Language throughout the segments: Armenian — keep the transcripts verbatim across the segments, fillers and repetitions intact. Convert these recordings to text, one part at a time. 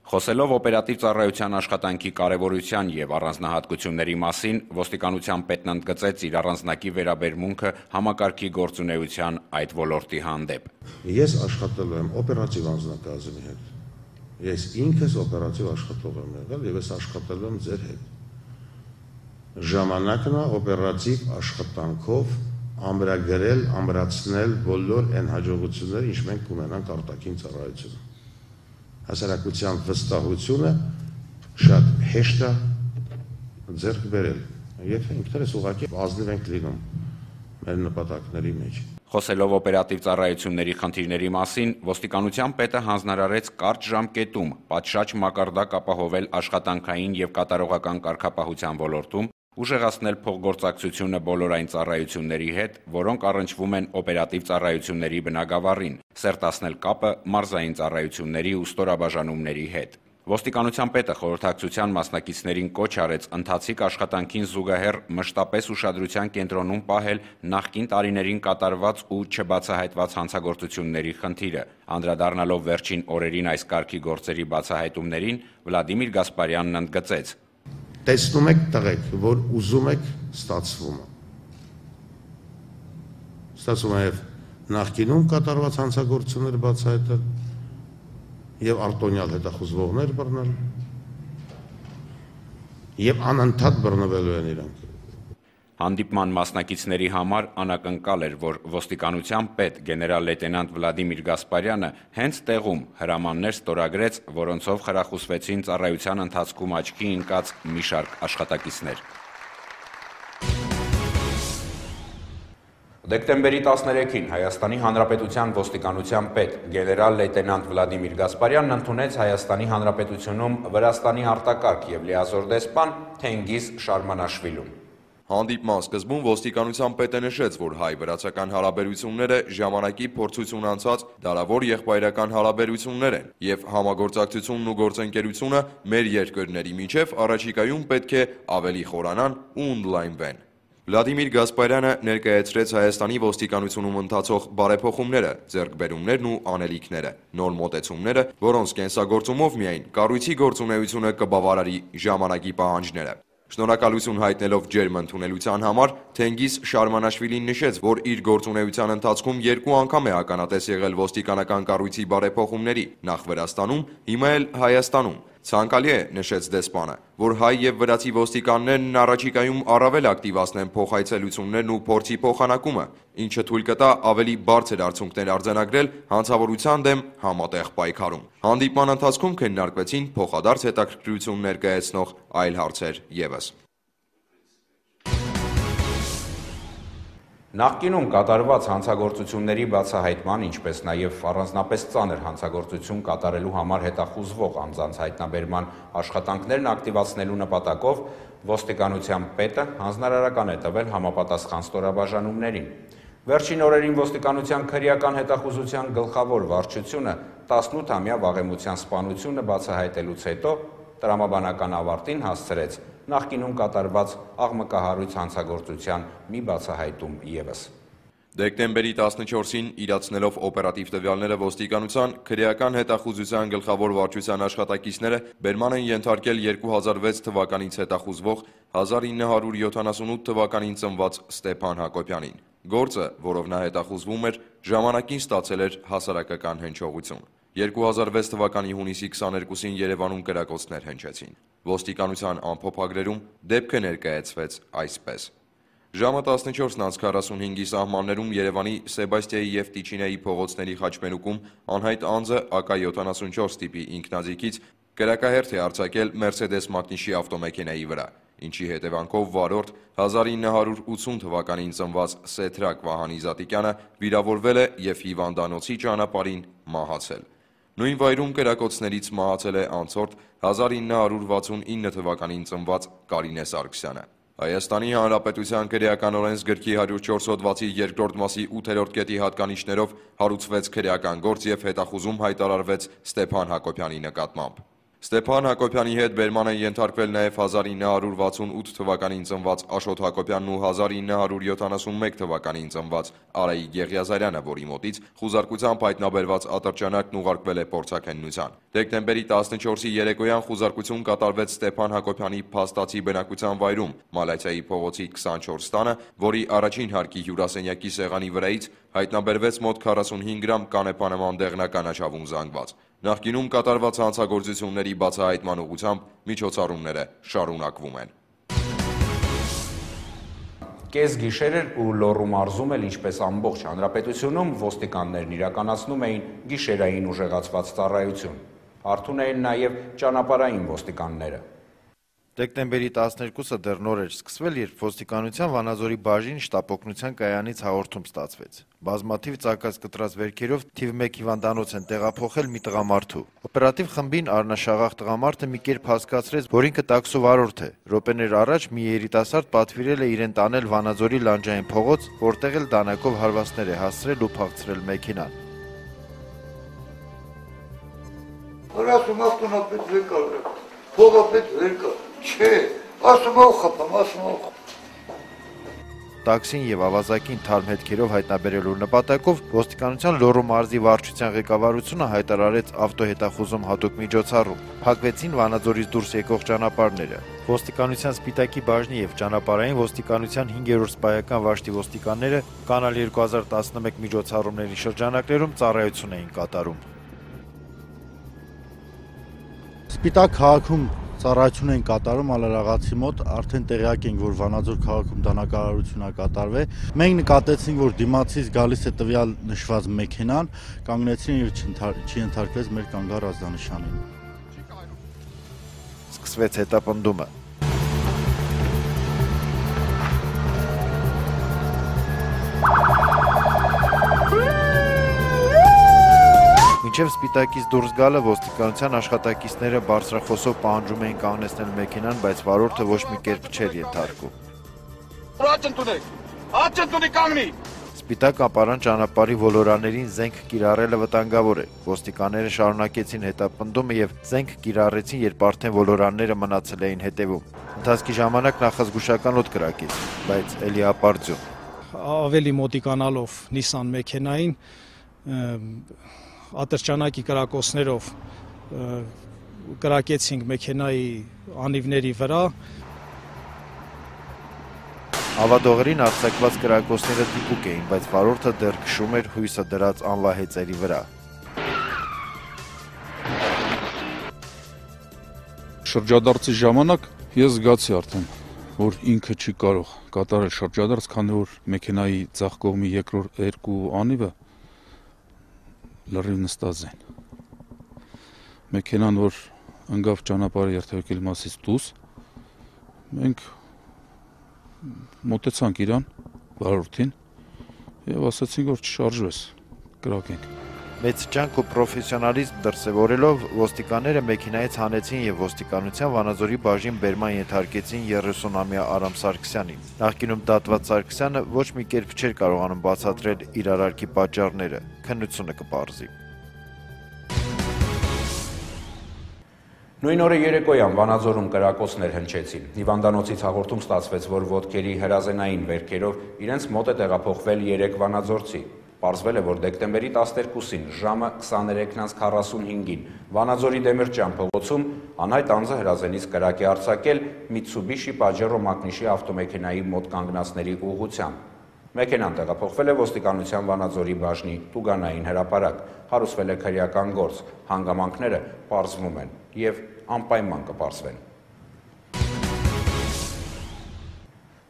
Խոսելով օպերատիվ ծառայության աշխատանքի կարևորության և առանձնահատկությունների մասին, ոստիկանության պետն ընդգծեց իր առանձնակի վերաբերմունքը համակարգի գործունեության այդ ոլորտի հանդեպ։ Ես աշխատել եմ օպերատիվ անձնակազմի հետ, ես ինքս օպերատիվ աշխատող եմ եղել և ես աշխատել եմ ձեր հետ։ Ժամանակն է օպերատիվ աշխատանքով ամրագրել, ամրացնել բոլոր այն հաջողությունները, ինչ մենք կունենանք արտաքին ծառայությունում։ Հասարակության վստահությունը շատ հեշտ է ձեռք բերել, եթե ինքներս ուղղակի ազնիվ ենք լինում մեր նպատակների մեջ։ Խոսելով օպերատիվ ծառայությունների խնդիրների մասին, ոստիկանության պետը հանձնարարեց կարճ ժամկետում պատշաճ մակարդակ ապահովել աշխատանքային և կատարողական կարգապահության ոլորտում, ուժեղացնել փոխգործակցությունը բոլոր այն ծառայությունների հետ, որոնք առնչվում են օպերատիվ ծառայությունների բնագավառին, սերտացնել կապը մարզային ծառայությունների ու ստորաբաժանումների հետ։ Ոստիկանության պետը խորհրդակցության մասնակիցներին կոչ արեց ընթացիկ աշխատանքին զուգահեռ մշտապես ուշադրության կենտրոնում պահել նախկին տարիներին կատարված ու չբացահայտված հանցագործությունների խնդիրը։ Անդրադառնալով վերջին օրերին այս կարգի գործերի բացահայտումներին, Վլադիմիր Գասպարյանն ընդգծեց. Տեսնում եք տղեկ, որ ուզում եք, ստացվում է։ Ստացվում է և նախկինում կատարված հանցագործություններ բացահայտել և արտոնյալ հետախուզվողներ բռնել և անընդհատ բռնվելու են իրանք։ Հանդիպման մասնակիցների համար անակնկալ էր, որ ոստիկանության պետ գեներալ լեյտենանտ Վլադիմիր Գասպարյանը հենց տեղում հրամաններ ստորագրեց, որոնցով խրախուսվեցին ծառայության ընթացքում աչքի ընկած մի շարք աշխատակիցներ։ Դեկտեմբերի տասներեքին Հայաստանի Հանրապետության ոստիկանության պետ գեներալ լեյտենանտ Վլադիմիր Գասպարյանն ընդունեց Հայաստանի Հանրապետությունում Վրաստանի արտակարգ և լիազոր դեսպան Թենգիզ Շարմանաշվիլուն։ Հանդիպման սկզբում ոստիկանության պետը նշեց, որ հայ-վրացական հարաբերությունները ժամանակի փորձություն անցած դարավոր եղբայրական հարաբերություններ են և համագործակցությունն ու գործընկերությունը մեր երկրների միջև առաջիկայում պետք է ավելի խորանան ու ընդլայնվեն։ Վլադիմիր Գասպարյանը ներկայացրեց Հայաստանի ոստիկանությունում ընթացող բարեփոխումները, ձեռքբերումներն ու անելիքները, նոր մոտեցումները, որոնց կենսագործումով միայն կառույցի գործունեությունը կբավարարի ժամանակի պահանջները։ Շնորհակալություն հայտնելով ջերմ ընդունելության համար, Թենգիզ Շարմանաշվիլին նշեց, որ իր գործունեության ընթացքում երկու անգամ է ականատես եղել ոստիկանական կառույցի բարեփոխումների, նախ Վրաստանում, հիմա էլ Հայաստանում։ Ցանկալի է, նշեց դեսպանը, որ հայ և վրացի ոստիկաններն առաջիկայում առավել ակտիվացնեն փոխայցելություններն ու փորձի փոխանակումը, ինչը թույլ կտա ավելի բարձր արդյունքներ արձանագրել հանցավորության դեմ համատեղ պայքարում։ Հանդիպման ընթացքում քննարկվեցին փոխադարձ հետաքրքրություն ներկայացնող այլ հարցեր ևս։ Նախկինում կատարված հանցագործությունների բացահայտման, ինչպես նաև առանձնապես ծանր հանցագործություն կատարելու համար հետախուզվող անձանց հայտնաբերման աշխատանքներն ակտիվացնելու նպատակով ոստիկանության պետը հանձնարարական է տվել համապատասխան ստորաբաժանումներին։ Վերջին օրերին ոստիկանության քրեական հետախուզության գլխավոր վարչությունը տասնութամյա վաղեմության սպանությունը բացահայտելուց հետո տրամաբանական ավարտին հասցրեց նախկինում կատարված աղմկահարույց հանցագործության մի բացահայտում ևս։ Դեկտեմբերի տասնչորսին իրացնելով օպերատիվ տվյալները ոստիկանության քրեական հետախուզության գլխավոր վարչության աշխատակիցները բերման են ենթարկել երկու հազար վեց թվականից հետախուզվող հազար ինը հարյուր յոթանասունութ թվականին ծնված Ստեփան Հակոբյանին։ Գործը, որով նա հետախուզվում էր, ժամանակին ստացել էր հասարակական հնչողություն։ երկու հազար վեց թվականի հունիսի քսաներկուսին Երևանում կրակոցներ հնչեցին։ Ոստիկանության ամփոփագրերում դեպքը ներկայացվեց այսպես. Ժամը տասնչորսն անց քառասունհինգի սահմաններում Երևանի Սեբաստիայի և Տիչինեի փողոցների խաչմերուկում անհայտ անձը ԱԿ յոթանասունչորս տիպի ինքնաձիգից կրակահերթ է արձակել Մերսեդես մակնիշի ավտոմեքենայի վրա, ինչի հետևանքով վարորդ հազար ինը հարյուր ութսուն թվականին ծնված Սեթրակ Վահանի Զատիկյանը վիրավորվել է և հիվանդանոցի ճանապարհին մահացել։ Նույն վայրում կրակոցներից մահացել է անցորդ հազար ինը հարյուր վաթսունինը թվականին ծնված Կարինե Սարգսյանը։ Հայաստանի Հանրապետության քրեական օրենսգրքի հարյուր չորս հոդվածի երկրորդ մասի ութերորդ կետի հատկանիշներով հարուցվեց քրեական գործ և հետախուզում հայտարարվեց Ստեփան Հակոբյանի նկատմամբ։ Ստեփան Հակոբյանի հետ բերման են ենթարկվել նաև հազար ինը հարյուր վաթսունութ թվականին ծնված Աշոտ Հակոբյանն ու հազար ինը հարյուր յոթանասունմեկ թվականին ծնված Արայիկ Եղիազարյանը, որի մոտից խուզարկությամբ հայտնաբերված ատրճանակն ուղարկվել է փորձաքննության։ Դեկտեմբերի տասնչորսի երեկոյան խուզարկություն կատարվեց Ստեփան Հակոբյանի փաստացի բնակության վայրում, Մալացիայի փողոցի քսանչորս տանը, որի առաջին հարկի հյուրասենյակի սեղանի վրայից հայտնաբերվեց մոտ քառասունհինգ գրամ կանեպանման դեղնական աչավուն զանգված։ Նախկինում կատարված հանցագործությունների բացահայտման ուղղությամբ միջոցառումները շարունակվում են։ Կես գիշեր ու Լոռու մարզում էլ ինչպես ամբողջ հանրապետությունում ոստիկաններն իրականացնում էին գիշերային ուժեղացված ծառայություն։ Արթուն էին նաև ճանապարհային ոստիկանները։ Դեկտեմբերի տասներկուսը դեռ նոր էր սկսվել, երբ ոստիկանության Վանաձորի բաժին շտապօգնության կայանից հաղորդում ստացվեց։ Բազմաթիվ ծակած կտրած վերքերով թիվ մեկ հիվանդանոց են տեղափոխել մի տղամարդու։ Օպերատիվ խմբին առնաշաղախ տղամարդը մի կերպ հասկացրեց, որ ինքը տաքսու վարորդ է։ Րոպեներ առաջ մի երիտասարդ պատվիրել է իրեն տանել Վանաձորի լանջային փողոց, որտեղ էլ դանակով հարվածներ է հասցրել ու փախցրել մեքենան։ Ասում ավտոնապետ վեր կա, փողապետ վեր կա, չէ, ասում ով խփամ, ասում ով խփամ։ Տաքսին եւ ավազակին թարմ հետքերով հայտնաբերելու նպատակով ոստիկանության Լոռու մարզի վարչության ղեկավարությունը հայտարարեց ավտոհետախուզում հատուկ միջոցառում։ Փակվեցին Վանաձորից դուրս եկող ճանապարհները։ Ոստիկանության Սպիտակի բաժնի եւ ճանապարհային ոստիկանության հինգերորդ սպայական վաշտի ոստիկանները կանալ երկու հազար տասնմեկ միջոցառումների շրջանակներում ծառայություն էին կատարում։ Սպիտակ քաղաքում ծառայություն են կատարում Ալարաղացի մոտ, արդեն տեղյակ ենք, որ Վանաձոր քաղաքում դանակարարություն է կատարվել։ Մենք նկատեցինք, որ դիմացից գալիս է տվյալ նշված մեքենան, կանգնեցին եւ չընթարկվեց մեր կանգառ ազդանշանին։ Սկսվեց հետապնդումը։ Մինչև Սպիտակից դուրս գալը ոստիկանության աշխատակիցները բարձրախոսով պահանջում էին կանգնեցնել մեքենան, բայց վարորդը ոչ մի կերպ չէր ենթարկում։ Սպիտակ ապարան ճանապարհի ոլորաներին զենք կիրառելը վտանգավոր է։ Ոստիկանները շարունակեցին հետապնդումը եւ զենք կիրառեցին, երբ արդեն ոլորանները մնացել էին հետևում։ Ընթացքի ժամանակ նախազգուշական օդ կրակեց, բայց էլի ապարդյուն։ Ավելի մոտիկանալով Nissan մեքենային ատրճանակի կրակոցներով կրակեցինք մեքենայի անիվների վրա։ Ավադողերին արձակված կրակոցները դիպուկ էին, բայց վարորդը դեռ քշում էր հույսը դրած անվահեծերի վրա։ Շրջադարձի ժամանակ ես զգացի արդեն, որ ինքը չի կարող կատարել շրջադարձ, քանի որ մեքենայի ձախ կողմի երկրորդ երկու անիվը լրիվ նստած են։ Մեքենան, որ ընկավ ճանապարհի երթևեկել մասից դուրս, մենք մոտեցանք իրան, վարորդին, եւ ասացինք, որ չշարժվես, կրակենք։ Մեծ ջանք ու պրոֆեսիոնալիզմ դրսևորելով ոստիկանները մեքենայից հանեցին եւ ոստիկանության Վանաձորի բաժին բերման ենթարկեցին երեսունամյա Արամ Սարգսյանին։ Նախկինում դատված Սարգսյանը ոչ մի կերպ չէր կարողանում բացատրել իր արարքի պատճառները, քննությունը կպարզի։ Նույն օրը երեկոյան Վանաձորում կրակոցներ հնչեցին։ Հիվանդանոցից հաղորդում ստացվեց, որ ոտքերի հրազենային վերքերով իրենց մոտ է տեղափոխվել երեք վանաձորցի։ Պարզվել է, որ դեկտեմբերի տասներկուսին ժամը քսաներեքն անց քառասունհինգին Վանաձորի Դեմիրճյան փողոցում անհայտ անձը հրազենից կրակ է արձակել Mitsubishi Pajero մակնիշի ավտոմեքենայի մոտ կանգնածների ուղղությամբ։ Մեքենան տեղափոխվել է ոստիկանության Վանաձորի բաժնի տուգանային հրապարակ, հարուցվել է քրեական գործ, հանգամանքները պարզվում են եւ անպայման կպարզվեն։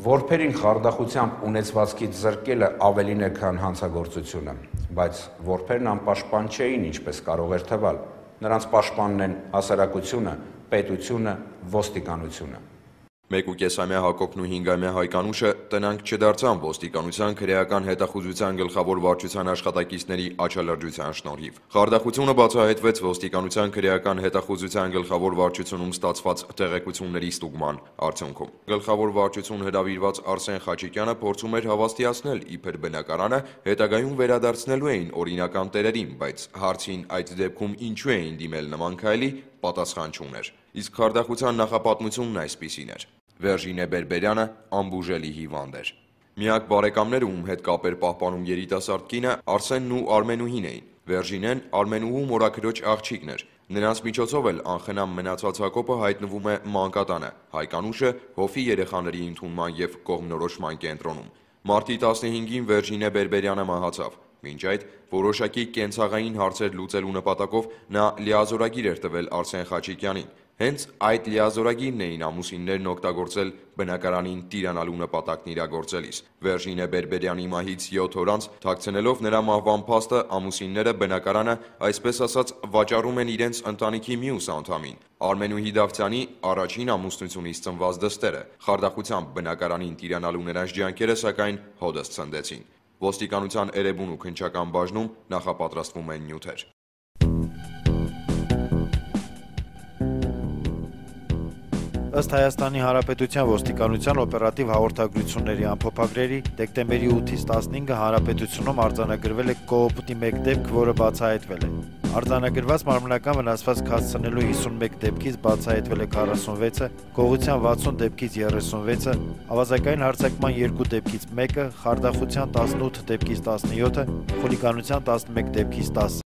Որբերին խարդախությամբ ունեցվածքից զրկելը ավելին է, քան հանցագործությունը, բայց որբերն անպաշտպան չէին, ինչպես կարող էր թվալ։ Նրանց պաշտպանն են հասարակությունը, պետությունը, ոստիկանությունը։ Մեկուկեսամյա Հակոբն ու հինգամյա Հայկանուշը տնանք չդարձան ոստիկանության քրեական հետախուզության գլխավոր վարչության աշխատակիցների աչալրջության շնորհիվ։ Խարդախությունը բացահայտվեց ոստիկանության քրեական հետախուզության գլխավոր վարչությունում ստացված տեղեկությունների ստուգման արդյունքում։ Գլխավոր վարչություն հրավիրված Արսեն Խաչիկյանը փորձում էր հավաստիացնել իբր բնակարանը հետագայում վերադարձնելու էին օրինական տերերին, բայց հարցին այդ դեպքում ինչու էին դիմել նման քայլի, պատասխան չուներ։ Իսկ խարդախության նախապատմությունն այսպիսին էր. Վերժինե Բերբերյանը անբուժելի հիվանդ էր։ Միակ բարեկամները, ում հետ կապեր պահպանում երիտասարդ կինը, Արսենն ու Արմենուհին էին։ Վերժինեն Արմենուհու մորաքրոջ աղջիկն էր։ Նրանց միջոցով էլ անխնամ մնացած Հակոբը հայտնվում է մանկատանը, Հայկանուշը հովի երեխաների ընդունման և կողմնորոշման կենտրոնում։ Մարտի տասնհինգին Վերժինե Բերբերյանը մահացավ։ Մինչ այդ որոշակի կենցաղային հարցեր լուծելու նպատակով նա լիազորագիր էր տվել Արսեն Խաչիկյանին։ Հենց այդ լիազորագիրն էին ամուսիններն օգտագործել բնակարանին տիրանալու նպատակն իրագործելիս։ Վերժինե Բերբերյանի մահից յոթ օր անց, թաքցնելով նրա մահվան փաստը, ամուսինները բնակարանը, այսպես ասած, վաճառում են իրենց ընտանիքի մյուս անդամին՝ Արմենուհի Դավթյանի առաջին ամուսնությունից ծնված դստերը։ Խարդախությամբ բնակարանին տիրանալու նրանց ջանքերը, սակայն, հօդս ցնդեցին։ Ոստիկանության էրեբուն ու քննչական բաժնում նախապատրաստվում են նյութեր։ Ըստ Հայաստանի Հանրապետության ոստիկանության օպերատիվ հաղորդագրությունների ամփոփագրերի, դեկտեմբերի ութից տասնհինգը հանրապետությունում արձանագրվել է կոոպտի մեկ դեպք, որը բացահայտվել է։ Արձանագրված մարմնական վնասվածք հասցնելու հիսունմեկ դեպքից բացահայտվել է քառասունվեցը, գողության վաթսուն դեպքից երեսունվեցը, ավազակային հարձակման երկու դեպքից մեկը, խարդախության տասնութ դեպքից տասնյոթը, խուլիգանության տասնմեկ դեպքից տասը։